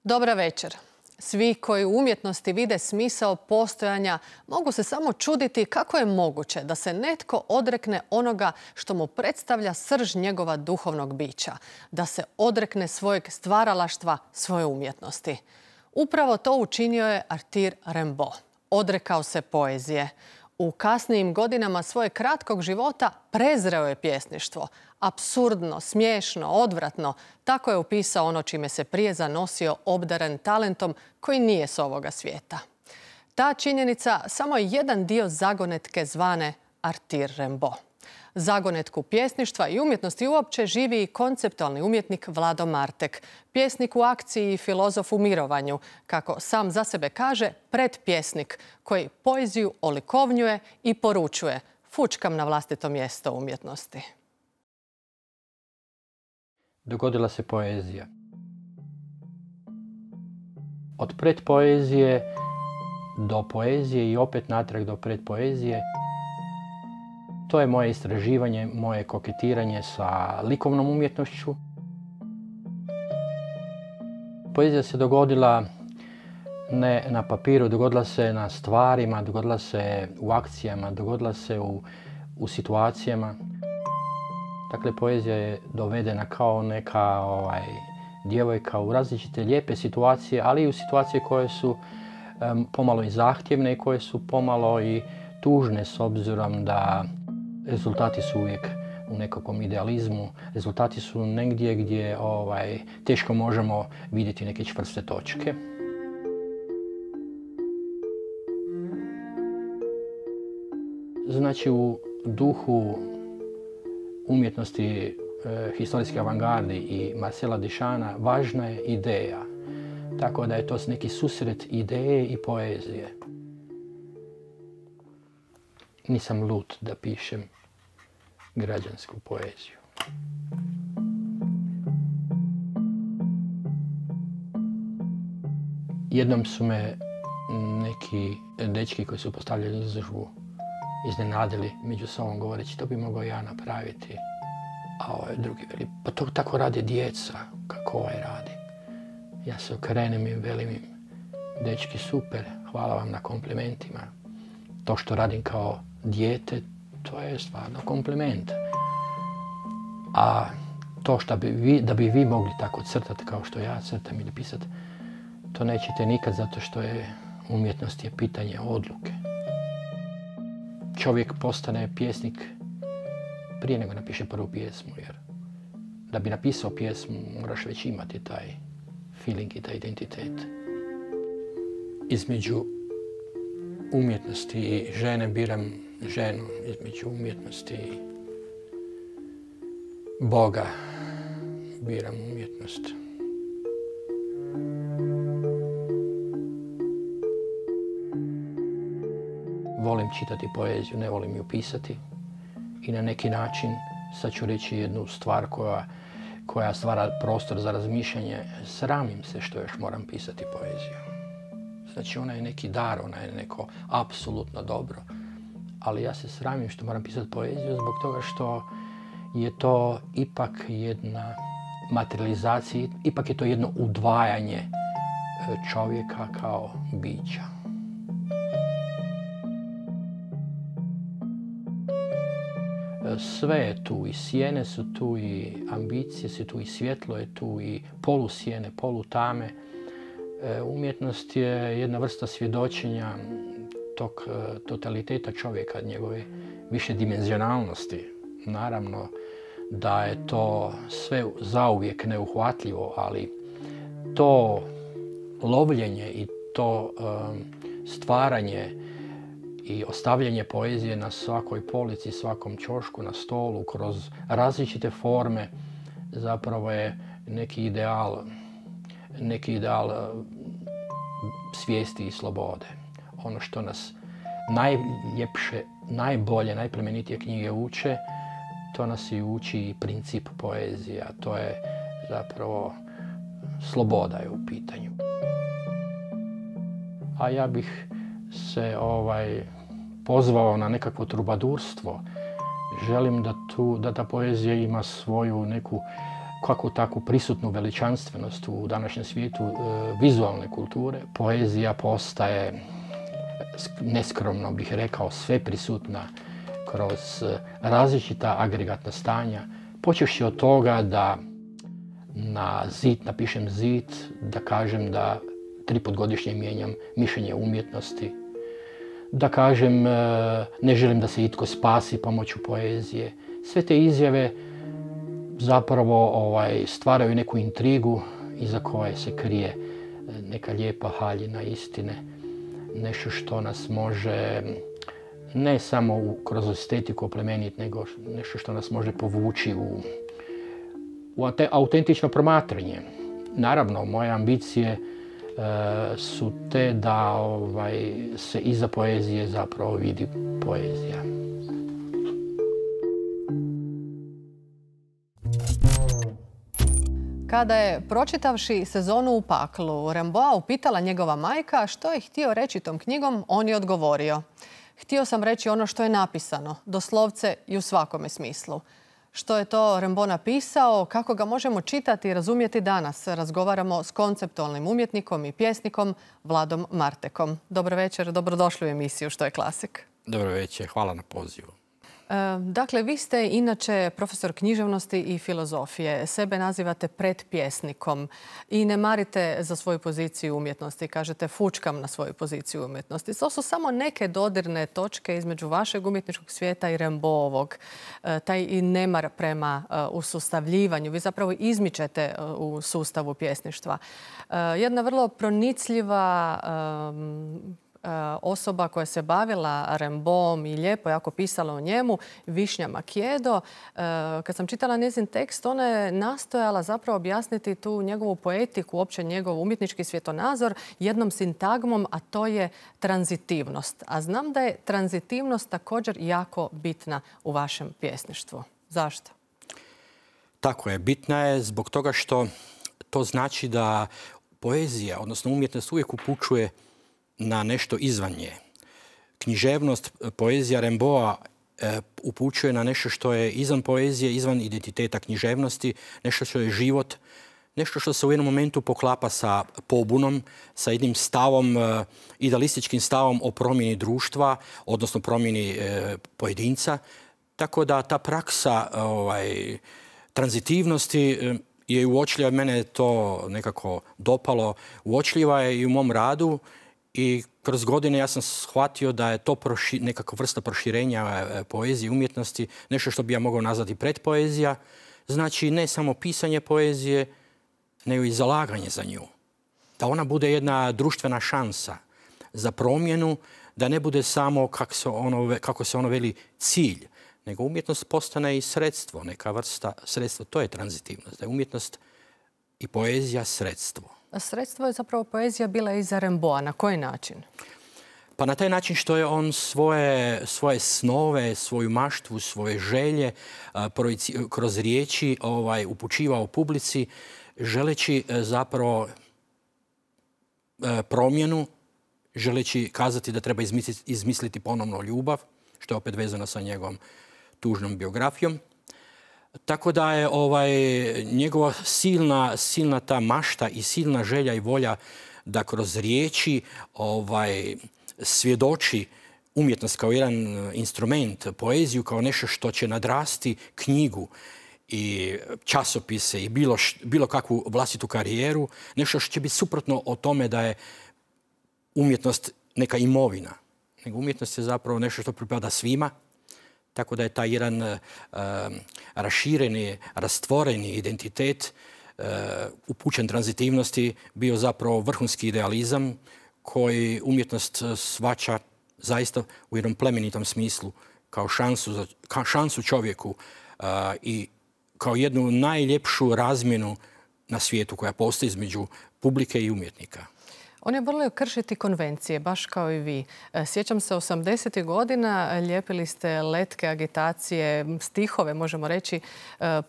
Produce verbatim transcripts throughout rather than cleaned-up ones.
Dobra večer. Svi koji u umjetnosti vide smisao postojanja mogu se samo čuditi kako je moguće da se netko odrekne onoga što mu predstavlja srž njegova duhovnog bića, da se odrekne svojeg stvaralaštva, svoje umjetnosti. Upravo to učinio je Arthur Rimbaud. Odrekao se poezije. U kasnijim godinama svojeg kratkog života prezreo je pjesništvo. Apsurdno, smiješno, odvratno, tako je opisao ono čime se prije zanosio obdaren talentom koji nije s ovoga svijeta. Ta činjenica samo je jedan dio zagonetke zvane Arthur Rimbaud. Zagonetku pjesništva i umjetnosti uopće živi i konceptualni umjetnik Vlado Martek, pjesnik u akciji i filozof u mirovanju, kako sam za sebe kaže, predpjesnik koji poeziju olikovnjuje i poručuje: fučkam na vlastito mjesto umjetnosti. Dogodila se poezija. Od predpoezije do poezije i opet natrag do predpoezije. To je moje istraživanje, moje koketiranje sa likovnom umjetnošću. Poezija se dogodila ne na papiru, dogodila se na stvarima, dogodila se u akcijama, dogodila se u, u situacijama. Dakle, poezija je dovedena kao neka ovaj, djevojka u različite lijepe situacije, ali i u situacije koje su um, pomalo i zahtjevne i koje su pomalo i tužne s obzirom da rezultati su uvijek u nekakvom idealizmu. Rezultati su negdje gdje ovaj, teško možemo vidjeti neke čvrste točke. Znači, u duhu umjetnosti e, historijske avangardi i Marcela Duchampa važna je ideja. Tako da je to neki susret ideje i poezije. Nisam lud da pišem građansku poeziju. Jednom su me neki dečki koji su postavljali izložbu iznenadili među sobom govoreći: to bi mogao ja napraviti. A ovaj drugi veli: pa to tako rade djeca, kako ovaj radi. Ja se okrenem i velim im: dečki, super, hvala vam na komplimentima. To što radim kao dijete, to je stvarno kompliment. A to što bi vi, da bi vi mogli tako crtati kao što ja crtam ili pisati, to nećete nikad, zato što je umjetnost je pitanje odluke. Čovjek postane pjesnik prije nego napiše prvu pjesmu, jer da bi napisao pjesmu moraš već imati taj feeling i taj identitet. Između umjetnosti i žene biram ženu, između umjetnosti i Boga biram umjetnost. Volim čitati poeziju, ne volim ju pisati. I na neki način, sad ću reći jednu stvar koja, koja stvara prostor za razmišljanje, sramim se što još moram pisati poeziju. Znači, ona je neki dar, ona je neko apsolutno dobro. Ali ja se sramim što moram pisati poeziju zbog toga što je to ipak jedna materializacija, ipak je to jedno udvajanje čovjeka kao bića. Sve je tu, i sjene su tu, i ambicije su tu, i svjetlo je tu, i polusjene, polutame. Umjetnost je jedna vrsta svjedočenja tog totaliteta čovjeka, njegove višedimenzionalnosti. Naravno da je to sve zauvijek neuhvatljivo, ali to lovljenje i to um, stvaranje i ostavljanje poezije na svakoj polici, svakom ćošku, na stolu, kroz različite forme, zapravo je neki ideal, neki ideal svijesti i slobode. Ono što nas najljepše, najbolje, najplemenitije knjige uče, to nas i uči i princip poezije, a to je zapravo sloboda je u pitanju. A ja bih se ovaj, pozvao na nekakvo trubadurstvo. Želim da, tu, da ta poezija ima svoju neku kako tako prisutnu veličanstvenost u današnjem svijetu e, vizualne kulture. Poezija postaje, neskromno bih rekao, sve prisutna kroz različita agregatna stanja. Počevši od toga da na zid napišem zid, da kažem da tri put godišnje mijenjam mišljenje o umjetnosti, da kažem ne želim da se itko spasi pomoću poezije. Sve te izjave zapravo ovaj, stvaraju neku intrigu iza koje se krije neka lijepa haljina istine. Nešto što nas može ne samo u, kroz estetiku oplemeniti, nego nešto što nas može povući u, u autentično promatranje. Naravno, moje ambicije e, su te da ovaj, se iza poezije zapravo vidi poezija. Kada je, pročitavši Sezonu u paklu, Rimbaud upitala njegova majka što je htio reći tom knjigom, on je odgovorio: htio sam reći ono što je napisano, doslovce i u svakome smislu. Što je to Rimbaud napisao, kako ga možemo čitati i razumjeti danas, razgovaramo s konceptualnim umjetnikom i pjesnikom Vladom Martekom. Dobro večer, dobrodošli u emisiju Što je klasik. Dobro večer, hvala na pozivu. Dakle, vi ste inače profesor književnosti i filozofije. Sebe nazivate predpjesnikom i ne marite za svoju poziciju umjetnosti. Kažete, fučkam na svoju poziciju umjetnosti. To su samo neke dodirne točke između vašeg umjetničkog svijeta i Rimbaudovog. Taj i nemar prema usustavljivanju. Vi zapravo izmičete u sustavu pjesništva. Jedna vrlo pronicljiva osoba koja se bavila Rimbaudom i lijepo jako pisala o njemu, Višnja Makijedo. Kad sam čitala njezin tekst, ona je nastojala zapravo objasniti tu njegovu poetiku, uopće njegov umjetnički svjetonazor jednom sintagmom, a to je tranzitivnost. A znam da je tranzitivnost također jako bitna u vašem pjesništvu. Zašto? Tako je. Bitna je zbog toga što to znači da poezija, odnosno umjetnost, uvijek upućuje na nešto izvan nje. Književnost, poezija Rimbaуда e, upućuje na nešto što je izvan poezije, izvan identiteta književnosti, nešto što je život, nešto što se u jednom momentu poklapa sa pobunom, sa jednim stavom, e, idealističkim stavom o promjeni društva, odnosno promjeni e, pojedinca. Tako da ta praksa ovaj, tranzitivnosti e, je uočljiva, mene je to nekako dopalo, uočljiva je i u mom radu. I kroz godine ja sam shvatio da je to proši, nekakva vrsta proširenja poezije i umjetnosti, nešto što bi ja mogao nazvati predpoezija. Znači ne samo pisanje poezije, nego i zalaganje za nju. Da ona bude jedna društvena šansa za promjenu, da ne bude samo, kako se ono, kako se ono veli, cilj, nego umjetnost postane i sredstvo, neka vrsta sredstva. To je tranzitivnost, da je umjetnost i poezija sredstvo. Sredstvo je zapravo poezija bila i za Rimbaуда. Na koji način? Pa na taj način što je on svoje, svoje snove, svoju maštvu, svoje želje a, projici, kroz riječi ovaj, upućivao publici, želeći a, zapravo a, promjenu, želeći kazati da treba izmisliti, izmisliti ponovno ljubav, što je opet vezano sa njegovom tužnom biografijom. Tako da je ovaj, njegova silna, silna ta mašta i silna želja i volja da kroz riječi ovaj, svjedoči umjetnost kao jedan instrument, poeziju kao nešto što će nadrasti knjigu i časopise i bilo, bilo kakvu vlastitu karijeru, nešto što će biti suprotno o tome da je umjetnost neka imovina. Nego umjetnost je zapravo nešto što pripada svima. Tako da je taj jedan uh, rašireni, rastvoreni identitet uh, upućen tranzitivnosti bio zapravo vrhunski idealizam koji umjetnost shvaća zaista u jednom plemenitom smislu kao šansu, za, kao šansu čovjeku uh, i kao jednu najljepšu razmjenu na svijetu koja postoji između publike i umjetnika. On je volio kršiti konvencije, baš kao i vi. Sjećam se osamdesetih godina, lijepili ste letke, agitacije, stihove, možemo reći,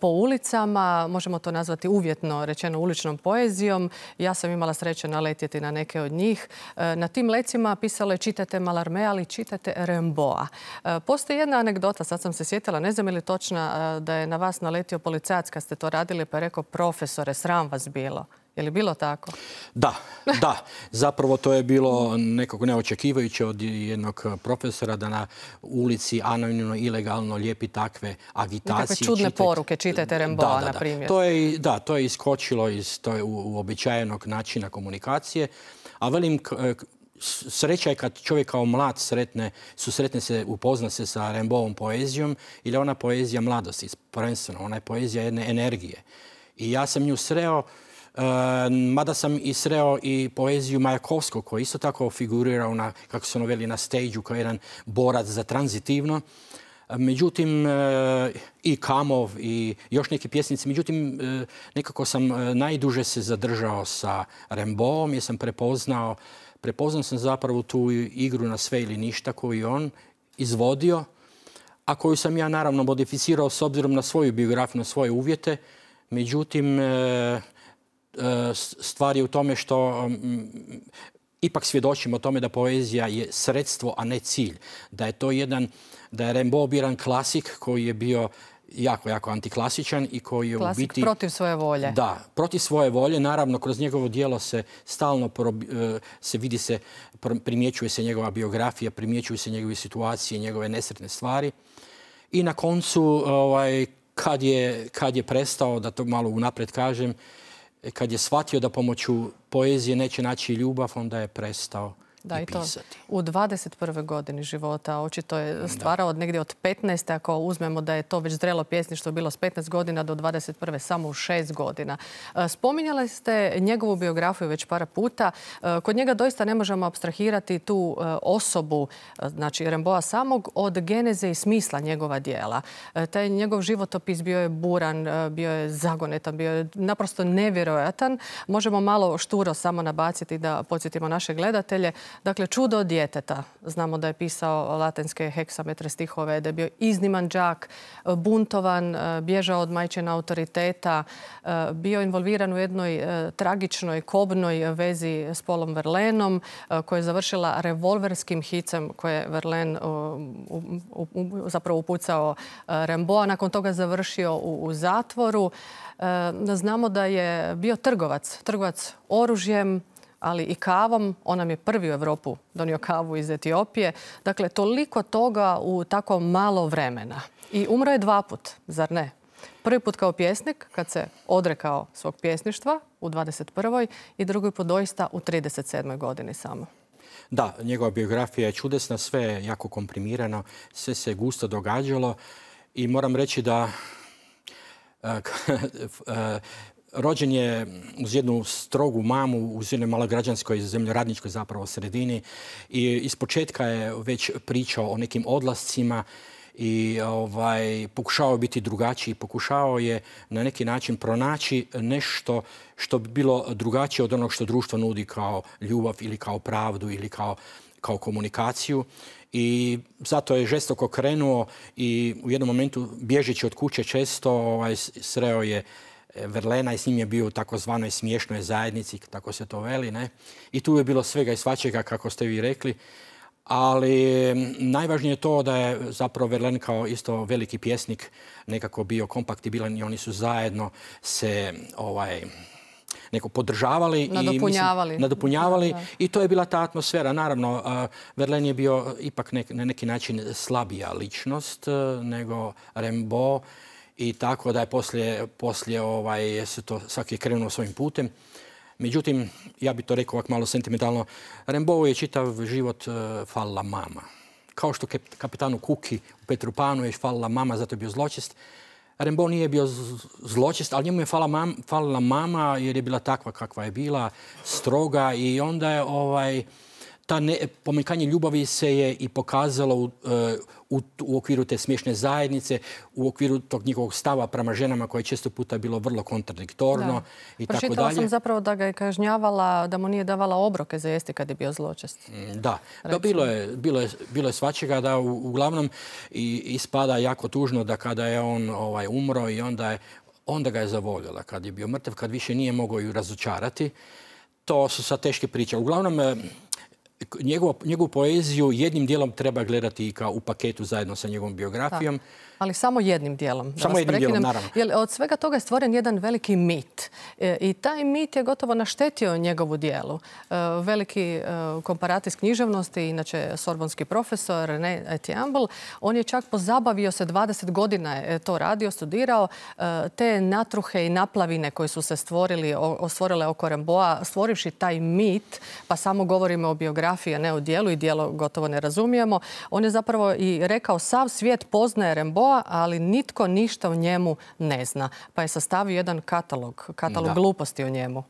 po ulicama. Možemo to nazvati uvjetno rečeno uličnom poezijom. Ja sam imala sreće naletjeti na neke od njih. Na tim lecima pisalo je čitajte Mallarmé, ali čitajte Rimbaуда. Postoji jedna anegdota, sad sam se sjetila, ne znam je li točna, da je na vas naletio policajac kad ste to radili pa je rekao profesore, sram vas bilo. Je li bilo tako? Da, da. Zapravo to je bilo nekako neočekivajuće od jednog profesora da na ulici anonimno, ilegalno lijepi takve agitacije. Nekakve čudne poruke, čitajte Rimbaуда, na primjer. To je, da, to je iskočilo iz to je uobičajenog načina komunikacije. A velim, sreća je kad čovjek kao mlad sretne, susretne se, upozna se sa Rimbaudom poezijom, ili ona poezija mladosti, prvenstveno, ona je poezija jedne energije. I ja sam nju sreo, Uh, mada sam i sreo i poeziju Majakovskog, koji isto tako figurirao na, kako se ono veli, na stage-u kao jedan borac za tranzitivno. Uh, međutim, uh, i Kamov i još neki pjesnici, međutim, uh, nekako sam uh, najduže se zadržao sa Rimbaudom jer sam prepoznao, prepoznao sam zapravo tu igru na sve ili ništa koju on izvodio, a koju sam ja naravno modificirao s obzirom na svoju biografiju, na svoje uvjete. Međutim, uh, stvar je u tome što um, ipak svjedočimo o tome da poezija je sredstvo, a ne cilj. Da je to jedan, da je Rimbaud bio jedan klasik koji je bio jako, jako antiklasičan i koji je klasik u biti... protiv svoje volje. Da, protiv svoje volje. Naravno, kroz njegovo djelo se stalno se vidi se, primjećuje se njegova biografija, primjećuju se njegove situacije, njegove nesretne stvari. I na koncu, ovaj, kad je, kad je prestao, da to malo unaprijed kažem, kad je shvatio da pomoću poezije neće naći ljubav, onda je prestao da, i pisati. I to u dvadeset prvoj godini života. Očito je stvarao od negdje od petnaeste, ako uzmemo da je to već zrelo pjesništvo bilo s petnaest godina do dvadeset prve samo u šest godina. Spominjali ste njegovu biografiju već par puta. Kod njega doista ne možemo apstrahirati tu osobu, znači Rimbaуда samog, od geneze i smisla njegova djela. Taj njegov životopis bio je buran, bio je zagonetan, bio je naprosto nevjerojatan. Možemo malo šturo samo nabaciti da podsjetimo naše gledatelje. Dakle, čudo od djeteta. Znamo da je pisao latinske heksametre stihove, da je bio izniman đak, buntovan, bježao od majčina autoriteta, bio involviran u jednoj tragičnoj, kobnoj vezi s Paulom Verlaineom, koja je završila revolverskim hicem koje je Verlaine zapravo upucao Rimbaуда. Nakon toga završio u, u zatvoru. Znamo da je bio trgovac, trgovac oružjem, ali i kavom. On nam je prvi u Europu donio kavu iz Etiopije. Dakle, toliko toga u tako malo vremena. I umro je dva put, zar ne? Prvi put kao pjesnik, kad se odrekao svog pjesništva u dvadeset prvoj i drugi put doista u trideset sedmoj godini samo. Da, njegova biografija je čudesna, sve je jako komprimirano, sve se gusto događalo i moram reći da rođen je uz jednu strogu mamu, uz jednoj malograđanskoj, zemljoradničkoj zapravo sredini i ispočetka je već pričao o nekim odlascima i ovaj, pokušao biti drugačiji, pokušao je na neki način pronaći nešto što bi bilo drugačije od onog što društvo nudi kao ljubav ili kao pravdu ili kao, kao komunikaciju. I zato je žestoko krenuo i u jednom momentu, bježeći od kuće često, ovaj, sreo je Verlainea i s njim je bio u takozvanoj smiješnoj zajednici, tako se to veli, ne? I tu je bilo svega i svačega, kako ste vi rekli. Ali najvažnije je to da je zapravo Verlaine kao isto veliki pjesnik nekako bio kompaktibilan i oni su zajedno se ovaj, neko podržavali. Nadopunjavali. I, mislim, nadopunjavali da, da. I to je bila ta atmosfera. Naravno, uh, Verlaine je bio ipak nek, na neki način slabija ličnost uh, nego Rimbaud. I tako da je poslije, poslije ovaj, se to svaki je krenuo svojim putem. Međutim, ja bih to rekao ovako malo sentimentalno, Rimbaud je čitav život uh, falila mama. Kao što kapitanu Kuki u Petru Panu je falila mama, zato je bio zločest. Rimbaud nije bio zločest, ali njemu je falila mama, falila mama jer je bila takva kakva je bila, stroga i onda je ovaj, ta ne, pomanjkanje ljubavi se je i pokazalo u, u, u okviru te smiješne zajednice, u okviru tog njihovog stava prema ženama koje je često puta bilo vrlo kontradiktorno i tako dalje. Pročitala sam zapravo da ga je kažnjavala, da mu nije davala obroke za jesti kad je bio zločest. Da, da bilo, je, bilo, je, bilo je svačega da u, uglavnom i, ispada jako tužno da kada je on ovaj, umro i onda, je, onda ga je zavoljela. Kad je bio mrtav, kad više nije mogao ju razočarati. To su sad teške priče. Uglavnom, Njegovu, njegovu poeziju jednim dijelom treba gledati kao u paketu zajedno sa njegovom biografijom. Da. Ali samo jednim dijelom. Da samo jednim dijelom, naravno. Jer od svega toga je stvoren jedan veliki mit. E, I taj mit je gotovo naštetio njegovu dijelu. E, veliki e, komparatis književnosti, inače sorbonski profesor René Etiambl, on je čak pozabavio se, dvadeset godina je to radio, studirao, e, te natruhe i naplavine koje su se stvorili, o, stvorile oko Rimbaуда, stvorivši taj mit, pa samo govorimo o biografiji, a ne o dijelu i dijelo gotovo ne razumijemo. On je zapravo i rekao sav svijet poznaje Rimbaуда, ali nitko ništa o njemu ne zna. Pa je sastavio jedan katalog, katalog da. gluposti o njemu.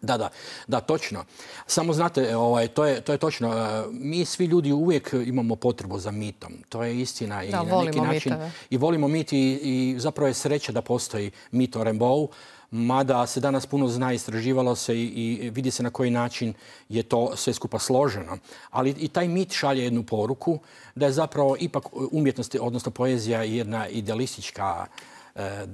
Da, da, da, točno. Samo znate, ovaj, to, je, to je točno. Mi svi ljudi uvijek imamo potrebu za mitom. To je istina. I da, na neki način, mitove. I volimo mit i, i zapravo je sreća da postoji mit o Rimbaudou. Mada se danas puno zna, istraživalo se i, i vidi se na koji način je to sve skupa složeno. Ali i taj mit šalje jednu poruku da je zapravo ipak umjetnost, odnosno poezija, jedna idealistička e,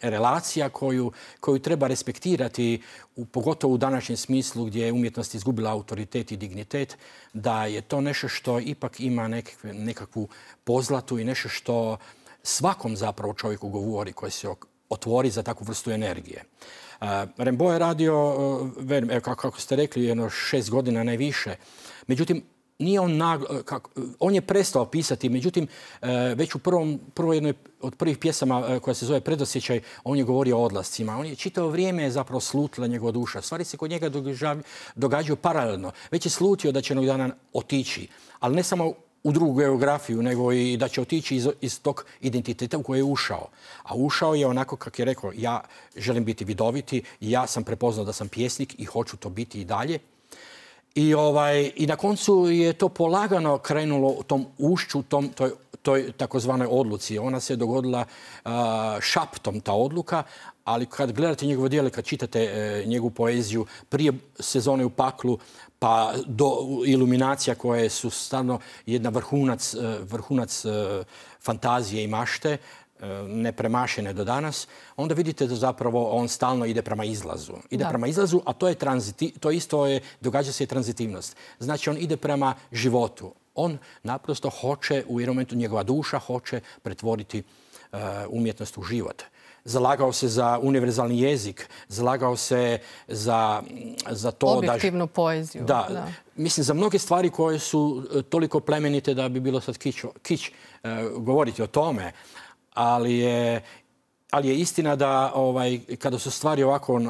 relacija koju, koju treba respektirati, u, pogotovo u današnjem smislu gdje je umjetnost izgubila autoritet i dignitet, da je to nešto što ipak ima nekakve, nekakvu pozlatu i nešto što svakom zapravo čovjeku govori koji se otvori za takvu vrstu energije. Uh, Rimbaud je radio, uh, verim, evo, kako, kako ste rekli, jedno šest godina najviše. Međutim, nije on, naglo, kako, on je prestao pisati, međutim, uh, već u prvom, prvo jednoj od prvih pjesama uh, koja se zove Predosjećaj, on je govorio o odlascima. On je čitavo vrijeme zapravo slutila njegova duša. Stvari se kod njega događaju paralelno. Već je slutio da će jednog dana otići, ali ne samo u drugu geografiju, nego i da će otići iz, iz tog identiteta u koji je ušao. A ušao je onako, kako je rekao, ja želim biti vidoviti, ja sam prepoznao da sam pjesnik i hoću to biti i dalje. I, ovaj, i na koncu je to polagano krenulo u tom ušću, tom, toj, toj takozvanoj odluci. Ona se dogodila uh, šaptom, ta odluka, ali kad gledate njegovo djelo, kad čitate e, njegovu poeziju prije Sezone u paklu, pa do iluminacija koje su stvarno jedna vrhunac, vrhunac e, fantazije i mašte, e, nepremašene do danas, onda vidite da zapravo on stalno ide prema izlazu. Ide da. prema izlazu, a to je tranziti, to isto je, događa se i tranzitivnost. Znači on ide prema životu. On naprosto hoće, u jednom momentu njegova duša hoće pretvoriti e, umjetnost u život. Zalagao se za univerzalni jezik, zalagao se za, za to objektivnu da... Objektivnu poeziju. Da, da, mislim za mnoge stvari koje su toliko plemenite da bi bilo sad kić, kić uh, govoriti o tome, ali je, ali je istina da ovaj, kada su stvari ovako uh,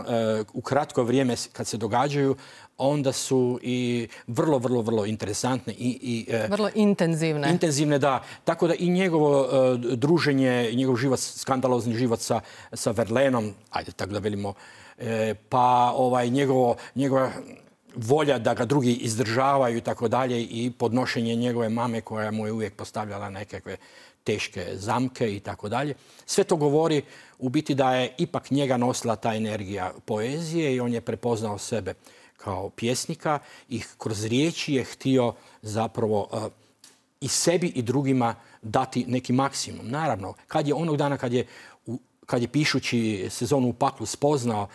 u kratko vrijeme kad se događaju, onda su i vrlo, vrlo, vrlo interesantne. I, i, vrlo intenzivne. Intenzivne, da. Tako da i njegovo uh, druženje, njegov život, skandalozni život sa, sa Verlaineom, ajde tako da velimo, e, pa ovaj, njegovo, njegova volja da ga drugi izdržavaju i tako dalje i podnošenje njegove mame koja mu je uvijek postavljala nekakve teške zamke i tako dalje. Sve to govori u biti da je ipak njega nosila ta energija poezije i on je prepoznao sebe kao pjesnika i kroz riječi je htio zapravo uh, i sebi i drugima dati neki maksimum. Naravno, kad je onog dana kad je, u, kad je pišući Sezonu u paklu spoznao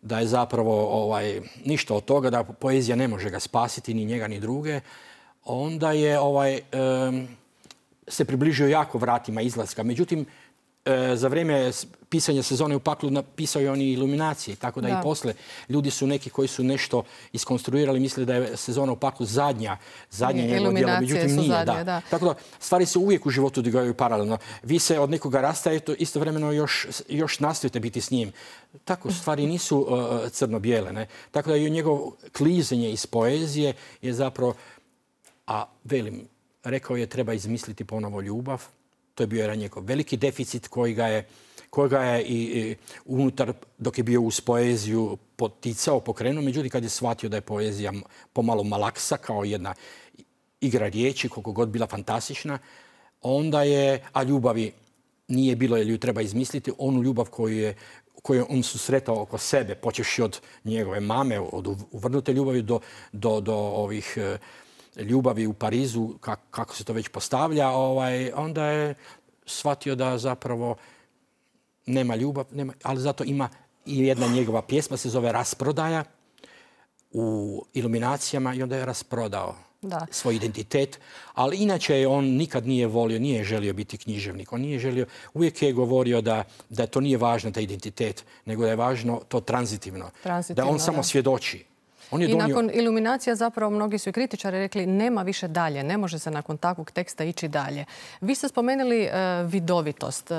da je zapravo ovaj, ništa od toga, da poezija ne može ga spasiti, ni njega ni druge, onda je ovaj, um, se približio jako vratima izlaska. Međutim, e, za vrijeme pisanja Sezone u paklu napisao je on i iluminacije, tako da, da i posle ljudi su neki koji su nešto iskonstruirali, misle da je Sezona u paklu zadnja, zadnja njegovo djelo, međutim nije. Zadnje, da. Da. Tako da stvari se uvijek u životu događaju paralelno. Vi se od nekoga rastajete, istovremeno još, još nastojite biti s njim. Tako stvari nisu uh, crno-bijele. Ne? Tako da i njegovo klizenje iz poezije je zapravo, a velim, rekao je treba izmisliti ponovo ljubav To je bio jedan njegov veliki deficit koji ga je, koji ga je i, i unutar, dok je bio uz poeziju, poticao, pokrenuo. Međutim, kad je shvatio da je poezija pomalo malaksa, kao jedna igra riječi, koliko god bila fantastična, onda je, a ljubavi nije bilo jer ju treba izmisliti, onu ljubav koju je koju on susretao oko sebe, počevši od njegove mame, od uvrnute ljubavi do, do, do ovih e, ljubavi u Parizu, kak, kako se to već postavlja, ovaj, onda je shvatio da zapravo nema ljubav, nema, ali zato ima i jedna njegova pjesma, se zove Rasprodaja, u Iluminacijama, i onda je rasprodao da. svoj identitet. Ali inače on nikad nije volio, nije želio biti književnik. On nije želio, uvijek je govorio da, da to nije važno, taj identitet, nego da je važno to tranzitivno. tranzitivno da on samo da. svjedoči. On je I donio... nakon Iluminacija zapravo mnogi su i kritičari rekli nema više dalje, ne može se nakon takvog teksta ići dalje. Vi ste spomenuli uh, vidovitost. Uh,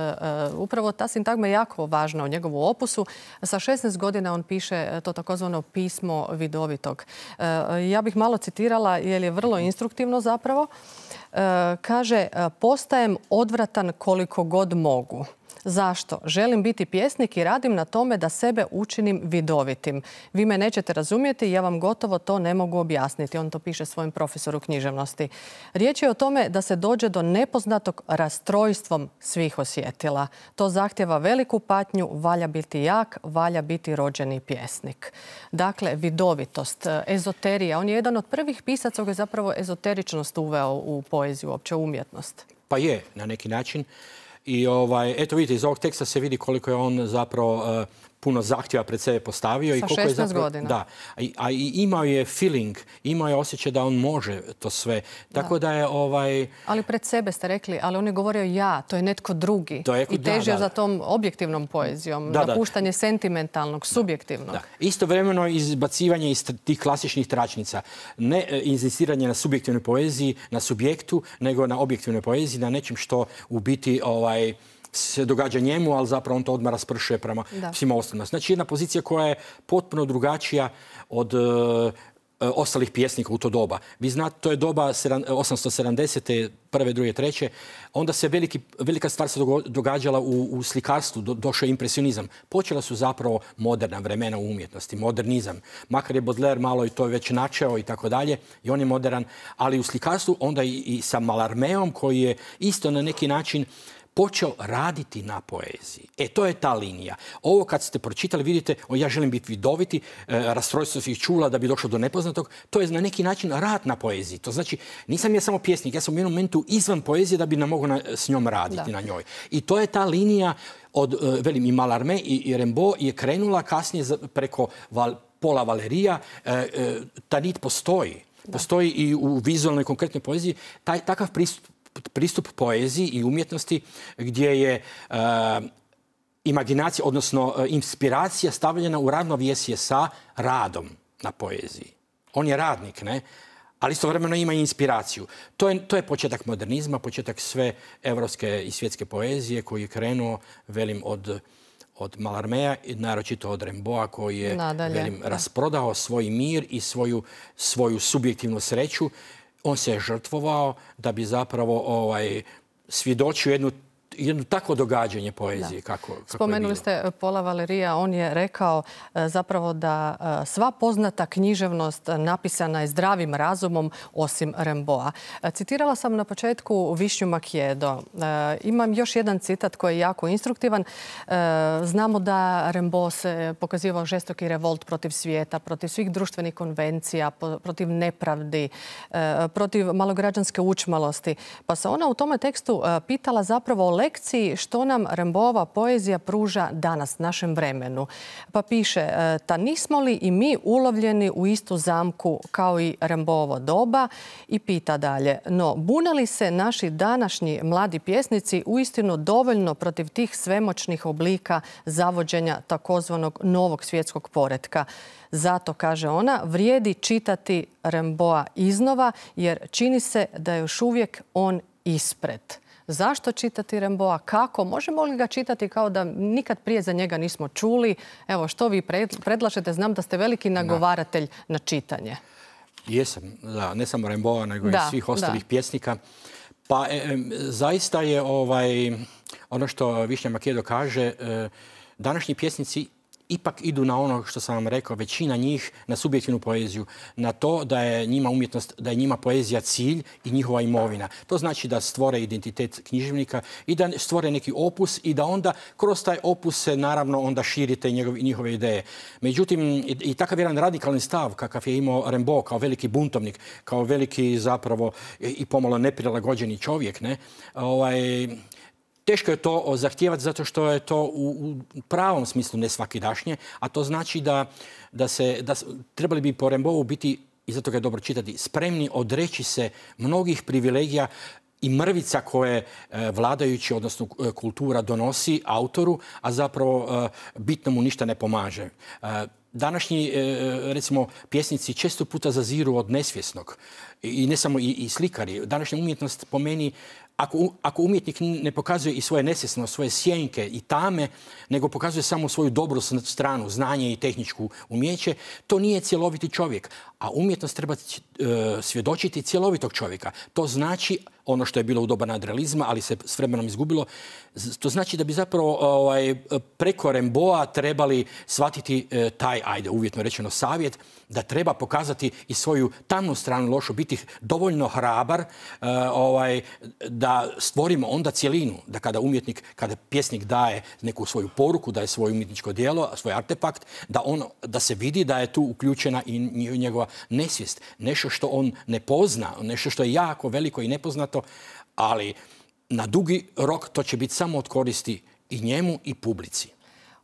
upravo ta sintagma je jako važna u njegovu opusu. Sa šesnaest godina on piše to takozvano pismo vidovitog. Uh, ja bih malo citirala jer je vrlo instruktivno zapravo. Uh, kaže, postajem odvratan koliko god mogu. Zašto? Želim biti pjesnik i radim na tome da sebe učinim vidovitim. Vi me nećete razumjeti, ja vam gotovo to ne mogu objasniti. On to piše svojem profesoru književnosti. Riječ je o tome da se dođe do nepoznatog rastrojstvom svih osjetila. To zahtjeva veliku patnju, valja biti jak, valja biti rođeni pjesnik. Dakle, vidovitost, ezoterija. On je jedan od prvih pisaca koji je zapravo ezoteričnost uveo u poeziju, uopće umjetnost. Pa je, na neki način. I ovaj, eto vidite, iz ovog teksta se vidi koliko je on zapravo uh, puno zahtjeva pred sebe postavio. Sa i koliko je zapravo, godina. Da, a, a i imao je feeling, imao je osjećaj da on može to sve. Tako da, da je ovaj... Ali pred sebe ste rekli, ali on je govorio ja, to je netko drugi. To je, I težio da, da. za tom objektivnom poezijom, da, napuštanje da. sentimentalnog, subjektivnog. Da. Istovremeno izbacivanje iz tih klasičnih tračnica. Ne inzistiranje na subjektivnoj poeziji, na subjektu, nego na objektivnoj poeziji, na nečem što u biti... Ovaj, se događa njemu, ali zapravo on to odmah raspršuje prema da. svima ostalima. Znači jedna pozicija koja je potpuno drugačija od uh, ostalih pjesnika u to doba. Vi znate, to je doba osamsto sedamdesete prve, druge, treće. Onda se veliki, velika stvar se događala u, u slikarstvu, do, došao je impresionizam. Počela su zapravo moderna vremena u umjetnosti, modernizam. Makar je Baudelaire malo i to već načeo i tako dalje, i on je modern, ali u slikarstvu onda i, i sa Mallarméom koji je isto na neki način počeo raditi na poeziji. E, to je ta linija. Ovo kad ste pročitali, vidite, o, ja želim biti vidoviti, e, rastrojstvo svih čula da bi došlo do nepoznatog, to je na neki način rad na poeziji. To znači, nisam ja samo pjesnik, ja sam u jednom momentu izvan poezije da bi ne mogu na, s njom raditi da. na njoj. I to je ta linija od, e, velim, i Mallarmé i, i Rimbaud je krenula kasnije za, preko val, Paula Valerija. E, e, ta nit postoji. Da. Postoji i u vizualnoj konkretnoj poeziji. Taj, takav pristup pristup poeziji i umjetnosti gdje je uh, imaginacija, odnosno uh, inspiracija stavljena u ravnovjesje sa radom na poeziji. On je radnik, ne? Ali istovremeno ima i inspiraciju. To je, to je početak modernizma, početak sve evropske i svjetske poezije koji je krenuo, velim, od, od Mallarméa i naročito od Rimbaуда koji je, Nadalje, velim, da. rasprodao svoj mir i svoju, svoju subjektivnu sreću. On se je žrtvovao da bi zapravo ovaj, svjedočio jednu, jedno takvo događanje poezije. Kako, kako Spomenuli ste Paula Valerija. On je rekao zapravo da sva poznata književnost napisana je zdravim razumom osim Rimbaуда. Citirala sam na početku Višnju Makijedo. Imam još jedan citat koji je jako instruktivan. Znamo da Rimbaud se pokazivao žestoki revolt protiv svijeta, protiv svih društvenih konvencija, protiv nepravdi, protiv malograđanske učmalosti. Pa se ona u tome tekstu pitala zapravo o lekciji što nam Rimbaudova poezija pruža danas, našem vremenu. Pa piše, ta nismo li i mi ulovljeni u istu zamku kao i Rimbaudovo doba, i pita dalje, no bune li se naši današnji mladi pjesnici uistinu dovoljno protiv tih svemoćnih oblika zavođenja takozvanog novog svjetskog poretka? Zato, kaže ona, vrijedi čitati Rimbaуда iznova jer čini se da je još uvijek on ispred. Zašto čitati Rimbaуда? Kako? Možemo li ga čitati kao da nikad prije za njega nismo čuli? Evo, što vi predlažete? Znam da ste veliki nagovaratelj da. na čitanje. Jesam, da. Ne samo Rimbaуда, nego da, i svih ostalih da. pjesnika. Pa e, zaista je ovaj, ono što Višnja Makedo kaže, e, današnji pjesnici ipak idu na ono što sam vam rekao, većina njih na subjektivnu poeziju, na to da je njima umjetnost, da je njima poezija cilj i njihova imovina. To znači da stvore identitet književnika i da stvore neki opus i da onda kroz taj opus se naravno onda širite njihove ideje. Međutim, i, i takav jedan radikalni stav kakav je imao Rimbaud kao veliki buntovnik, kao veliki zapravo i pomalo neprilagođeni čovjek, ne, ovaj, teško je to zahtijevati zato što je to u, u pravom smislu nesvakidašnje, a to znači da, da se, da trebali bi po Rimbaudou biti, i zato ga je dobro čitati, spremni odreći se mnogih privilegija i mrvica koje e, vladajući, odnosno e, kultura donosi autoru, a zapravo e, bitno mu ništa ne pomaže. E, Današnji, recimo, pjesnici često puta zaziru od nesvjesnog. I ne samo i, i slikari. Današnja umjetnost po meni, ako, ako umjetnik ne pokazuje i svoje nesvjesno, svoje sjenke i tame, nego pokazuje samo svoju dobru stranu, znanje i tehničku umjeće, to nije cjeloviti čovjek. A umjetnost treba uh, svjedočiti cjelovitog čovjeka. To znači, ono što je bilo u doba nadrealizma, ali se s vremenom izgubilo, to znači da bi zapravo ovaj, preko Rimbaуда trebali shvatiti uh, taj, ajde, uvjetno rečeno, savjet, da treba pokazati i svoju tamnu stranu lošu, biti dovoljno hrabar uh, ovaj, da stvorimo onda cjelinu, da kada umjetnik, kada pjesnik daje neku svoju poruku, daje svoje umjetničko djelo, svoj artefakt, da, on, da se vidi da je tu uključena i njegova nesvijest. Nešto što on ne pozna, nešto što je jako veliko i nepoznato, ali na dugi rok to će biti samo od koristi i njemu i publici.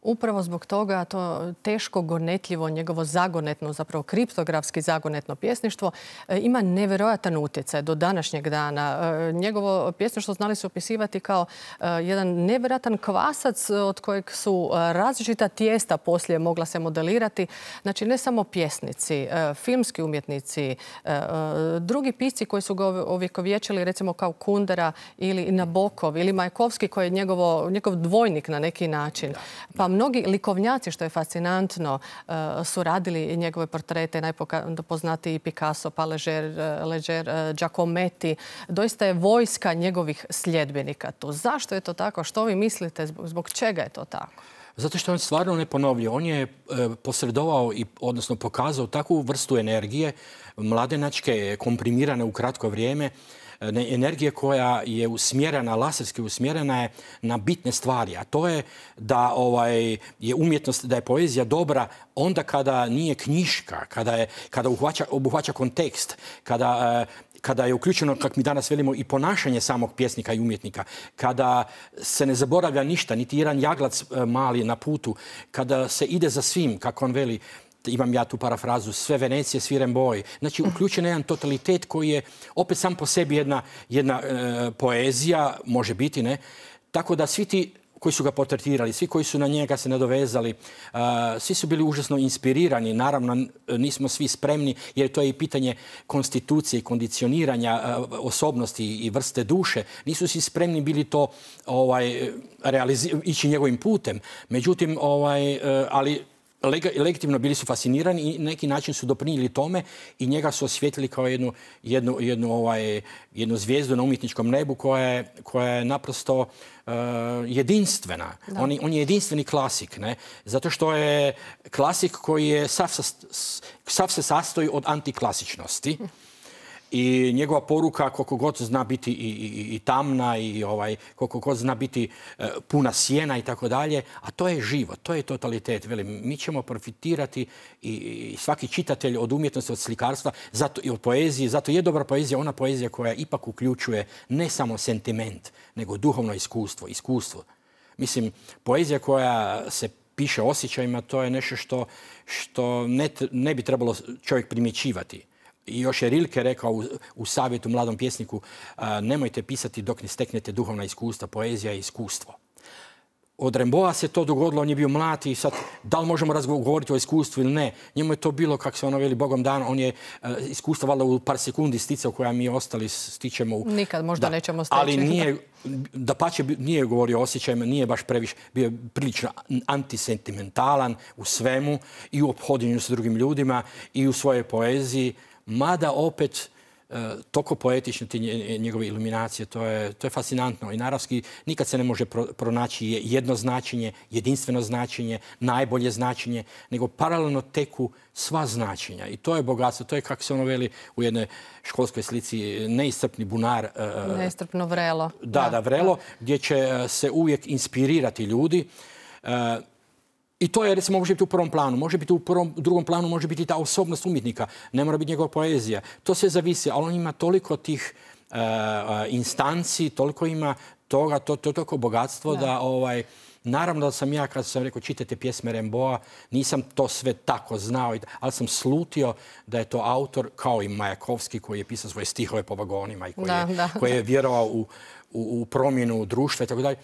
Upravo zbog toga to teško gonetljivo, njegovo zagonetno, zapravo kriptografski zagonetno pjesništvo ima nevjerojatan utjecaj do današnjeg dana. Njegovo pjesništvo znali su opisivati kao jedan nevjerojatan kvasac od kojeg su različita tijesta poslije mogla se modelirati. Znači ne samo pjesnici, filmski umjetnici, drugi pisci koji su ga ovjekovječili, recimo kao Kundera ili Nabokov ili Majakovski koji je njegovo, njegov dvojnik na neki način. Pa mnogi likovnjaci, što je fascinantno, su radili njegove portrete, najpoznatiji Picasso, pa Leger, Leger, Giacometti. Doista je vojska njegovih sljedbenika tu. Zašto je to tako? Što vi mislite? Zbog čega je to tako? Zato što on stvarno ne ponovlja. On je posredovao i odnosno pokazao takvu vrstu energije, mladenačke, komprimirane u kratko vrijeme, energije koja je usmjerena, laserski usmjerena je na bitne stvari. A to je da ovaj, je umjetnost, da je poezija dobra onda kada nije knjiška, kada, je, kada uhvaća, obuhvaća kontekst, kada, kada je uključeno, kako mi danas velimo, i ponašanje samog pjesnika i umjetnika, kada se ne zaboravlja ništa, niti jedan jaglac mali na putu, kada se ide za svim, kako on veli, imam ja tu parafrazu, sve Venecije, svi Rimbaudi. Znači, uključen je jedan totalitet koji je opet sam po sebi jedna, jedna e, poezija, može biti, ne? Tako da svi ti koji su ga portretirali, svi koji su na njega se nadovezali, uh, svi su bili užasno inspirirani. Naravno, nismo svi spremni, jer to je i pitanje konstitucije i kondicioniranja uh, osobnosti i vrste duše. Nisu svi spremni bili to ovaj, ići njegovim putem. Međutim, ovaj, uh, ali legitimno bili su fascinirani i neki način su doprinijeli tome i njega su osvijetlili kao jednu, jednu, jednu, ovaj, jednu zvijezdu na umjetničkom nebu koja je, koja je naprosto uh, jedinstvena. On, on je jedinstveni klasik, ne? Zato što je klasik koji je sav, sav se sastoji od antiklasičnosti. I njegova poruka, koliko god zna biti i, i, i tamna i ovaj, koliko god zna biti e, puna sjena i tako dalje, a to je život, to je totalitet. Velim, mi ćemo profitirati i, i svaki čitatelj od umjetnosti, od slikarstva zato, i od poezije. Zato je dobra poezija ona poezija koja ipak uključuje ne samo sentiment, nego duhovno iskustvo. iskustvo. Mislim, poezija koja se piše osjećajima, to je nešto što, što ne, ne bi trebalo čovjek primjećivati. I još je Rilke rekao u, u savjetu mladom pjesniku, a, nemojte pisati dok ne steknete duhovna iskustva, poezija je iskustvo. Od Rimbaуда se to dogodilo, on je bio mlad i sad, da li možemo razgovoriti o iskustvu ili ne? Njemu je to bilo, kako se ono veli, Bogom dan, on je uh, iskustvo valjda u par sekundi sticao koja mi ostali stičemo. U... Nikad možda da, nećemo steći. Ali nije, da pače, nije govorio o osjećajima, nije baš previše, bio je prilično antisentimentalan u svemu i u ophodinju s drugim ljudima i u svojoj poeziji. Mada opet toliko poetične te njegove iluminacije, to je, to je fascinantno. I naravski nikad se ne može pro, pronaći jedno značenje, jedinstveno značenje, najbolje značenje, nego paralelno teku sva značenja. I to je bogatstvo, to je, kako se ono veli u jednoj školskoj slici, neiscrpni bunar. Neiscrpno vrelo. Da, da, da vrelo, da. Gdje će se uvijek inspirirati ljudi. I to je, recimo, može biti u prvom planu. Može biti u prvom, drugom planu, može biti ta osobnost umjetnika. Ne mora biti njegova poezija. To sve zavisi, ali on ima toliko tih uh, instanci, toliko ima toga, to, to toliko bogatstvo da, da ovaj, naravno da sam ja, kad sam rekao čitajte pjesme Rimbaud'a, nisam to sve tako znao, ali sam slutio da je to autor, kao i Majakovski, koji je pisao svoje stihove po vagonima i koji, da, je, da. koji je vjerovao u, u, u promjenu društva i tako dalje.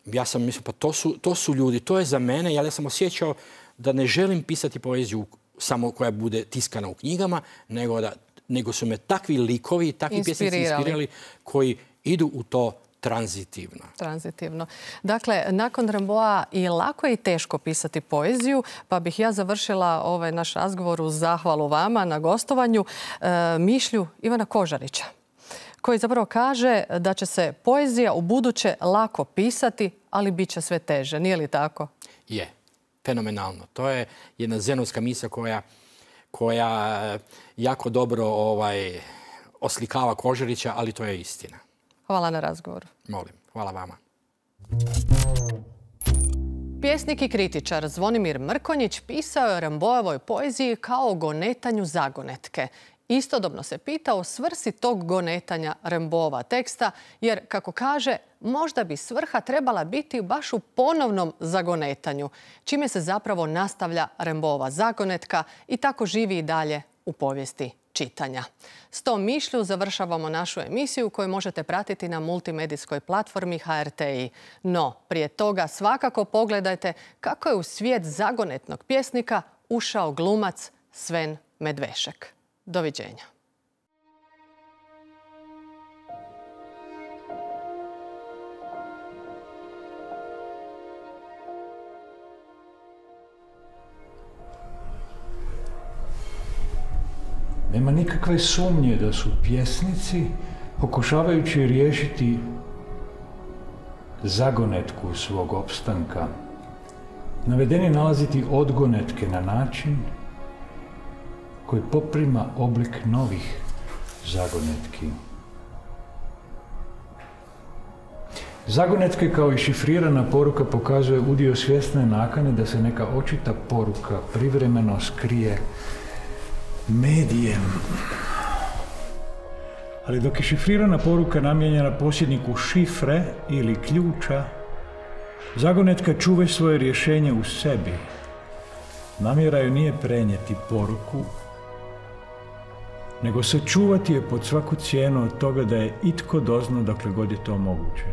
Ja sam mislio, pa to su, to su ljudi, to je za mene, ja sam osjećao da ne želim pisati poeziju samo koja bude tiskana u knjigama, nego, da, nego su me takvi likovi, takvi pjesnici inspirirali koji idu u to tranzitivno. Tranzitivno. Dakle, nakon Rimbaud'a i lako je i teško pisati poeziju, pa bih ja završila ovaj naš razgovor uz zahvalu vama na gostovanju e, mišlju Ivana Kožarića, koji zapravo kaže da će se poezija u buduće lako pisati, ali bit će sve teže. Nije li tako? Je. Fenomenalno. To je jedna zenovska misao koja, koja jako dobro ovaj, oslikava Kožarića, ali to je istina. Hvala na razgovoru. Molim. Hvala vama. Pjesnik i kritičar Zvonimir Mrkonjić pisao je o Rimbaud'ovoj poeziji kao o gonetanju zagonetke. Istodobno se pita o svrsi tog gonetanja Rimbaud'ova teksta, jer, kako kaže, možda bi svrha trebala biti baš u ponovnom zagonetanju, čime se zapravo nastavlja Rimbaud'ova zagonetka i tako živi i dalje u povijesti čitanja. S tom mišlju završavamo našu emisiju koju možete pratiti na multimedijskoj platformi H R T I. No, prije toga svakako pogledajte kako je u svijet zagonetnog pjesnika ušao glumac Sven Medvešek. Doviđenja. Nema nikakve sumnje da su pjesnici, pokušavajući riješiti zagonetku svog opstanka, navedeni nalaziti odgonetke na način koji poprima oblik novih zagonetki. Zagonetke kao i šifrirana poruka pokazuje udio svjesne nakane da se neka očita poruka privremeno skrije medijem. Ali dok je šifrirana poruka namijenjena posjedniku šifre ili ključa, zagonetka čuva svoje rješenje u sebi. Namjera joj nije prenijeti poruku, nego sačuvati je pod svaku cijenu od toga da je itko dozna dokle god je to moguće.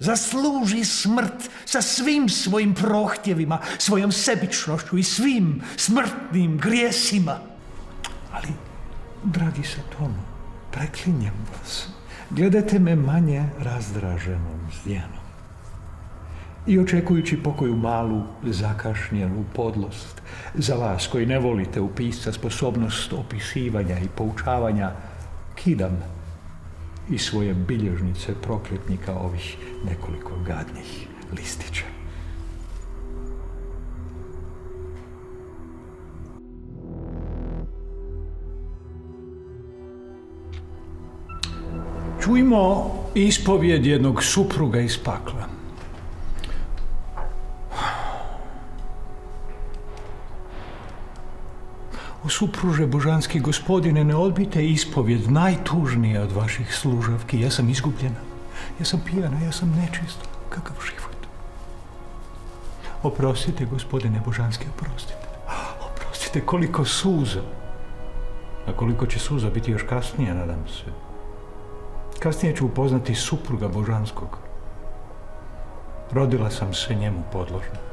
Zasluži smrt sa svim svojim prohtjevima, svojom sebičnošću i svim smrtnim grijesima. Ali, dragi Satonu, preklinjem vas, gledajte me manje razdraženom zdjenom. I očekujući pokoju malu, zakašnjelu podlost, za vas koji ne volite u pisca sposobnost opisivanja i poučavanja, kidam i svoje bilježnice prokletnika ovih nekoliko gadnih listića. Čujmo ispovijed jednog supruga iz pakla. O supruže božanski gospodine, ne odbijte ispovijed najtužnije od vaših služavki. Ja sam izgubljena, ja sam pijana, ja sam nečista. Kakav život? Oprostite, gospodine božanski, oprostite. Oprostite, koliko suza. A koliko će suza biti još kasnije, nadam se. Kasnije ću upoznati supruga božanskog. Rodila sam se njemu podložna.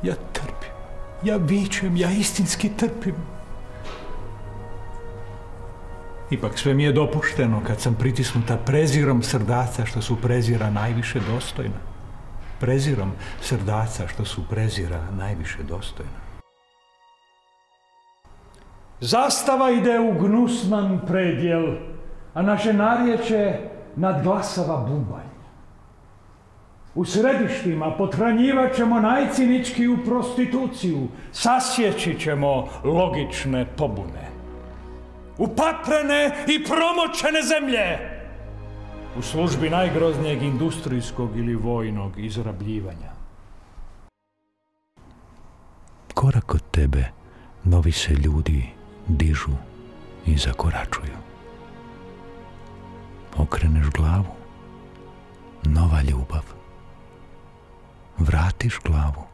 Ja trpim, ja vičem, ja istinski trpim. Ipak sve mi je dopušteno kad sam pritisnuta prezirom srdaca što su prezira najviše dostojna. Prezirom srdaca što su prezira najviše dostojna. Zastava ide u gnusnan predjel, a naše narječje nadglasava bubanj. U središtima pothranjivat ćemo najciničkiju prostituciju, sasjeći ćemo logične pobune. Upaprene i promočene zemlje u službi najgroznijeg industrijskog ili vojnog izrabljivanja. Korak od tebe novi se ljudi dižu i zakoračuju. Okreneš glavu, nova ljubav. Vratiš glavu,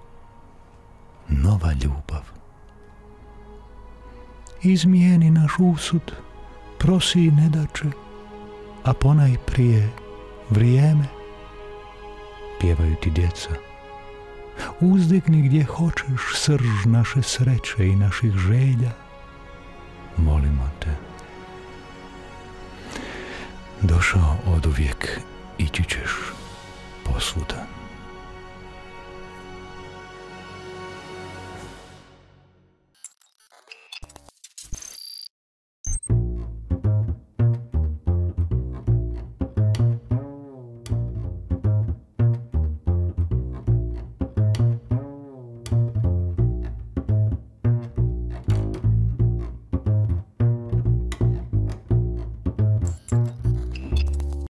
nova ljubav. Izmijeni naš usud, prosi nedače, a ponajprije vrijeme. Pjevaju ti djeca. Uzdigni gdje hoćeš srž naše sreće i naših želja. Molimo te. Došao oduvijek, ići ćeš posvuda.